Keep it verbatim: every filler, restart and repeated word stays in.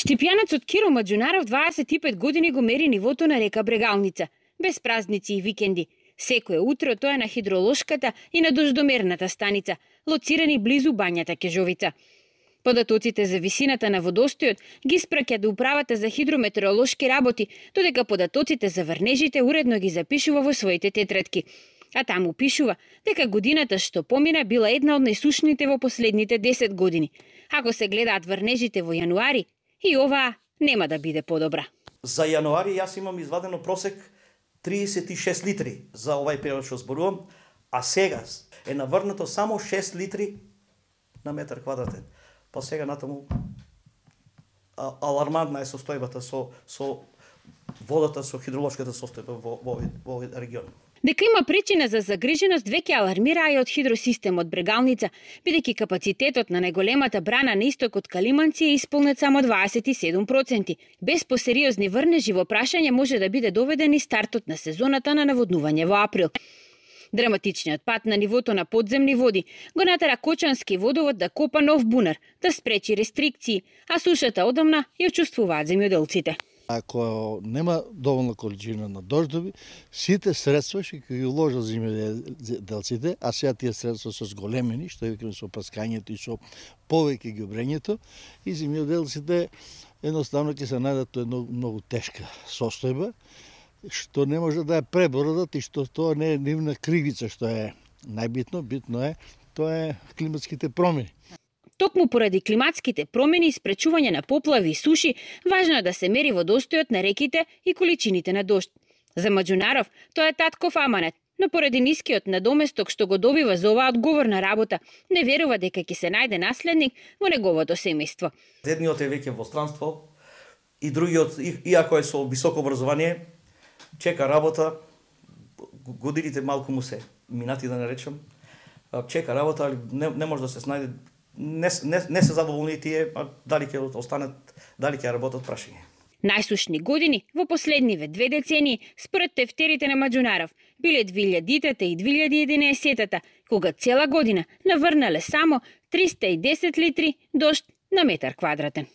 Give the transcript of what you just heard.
Штипјанецот Киро Маџунаров дваесет и пет години го мери нивото на река Брегалница, без празници и викенди. Секое утро тоа е на хидролошката и на дождомерната станица, лоцирани близу бањата Кежовица. Податоците за висината на водостојот ги спраќа до управата за хидрометеоролошки работи, додека податоците за врнежите уредно ги запишува во своите тетрадки. А таму пишува дека годината што помина била една од најсушните во последните десет години. Ако се гледаат врнежите во јануари, и оваа нема да биде подобра. За јануари јас имам извадено просек триесет и шест литри за овај период што зборувам, а сега е наврнато само шест литри на метар квадратен. Па сега натаму а, алармантна е состојбата со, со водата, со хидролошката состојба во, во, во овој регион. Дека има причина за загриженост веќе алармираа и од хидросистемот Брегалница, бидејќи капацитетот на најголемата брана на истокот Калиманци е исполнет само дваесет и седум проценти. Без посериозни врнежи во прашање може да биде доведен и стартот на сезоната на наводнување во април. Драматичниот пат на нивото на подземни води го натера Кочански водовод да копа нов бунар, да спречи рестрикции, а сушата одамна ја чувствуваат земјоделците. Ако нема доволна количина на дождови, сите средства ќе ги уложат земјоделците, а сега тие средства се зголемени, што викаме со прскањето и со повеќе ѓубрењето, и земјоделците едноставно ќе се најдат во една многу тешка состојба, што не може да ја пребородат и што тоа не е нивна кривица, што е најбитно, битно е, тоа е климатските промени. Токму поради климатските промени и спречување на поплави и суши, важно е да се мери водостојот на реките и количините на дожд. За Маџунаров тоа е татков аманет, но поради нискиот надоместок што го добива за оваа одговорна работа, не верува дека ќе се најде наследник во неговото семејство. Едниот е веќе во странство и другиот, иако е со високо образование, чека работа, годините малку му се минати да не речам, чека работа, али не, не може да се снајде, не, не, не се задоволни тие, а дали ќе останат, дали ќе работат прашање. Најсушни години во последниве две децении, според тефтерите на Маџунаров, биле две илјадитата и две илјади и единаесеттата, кога цела година наврнале само триста и десет литри дожд на метар квадратен.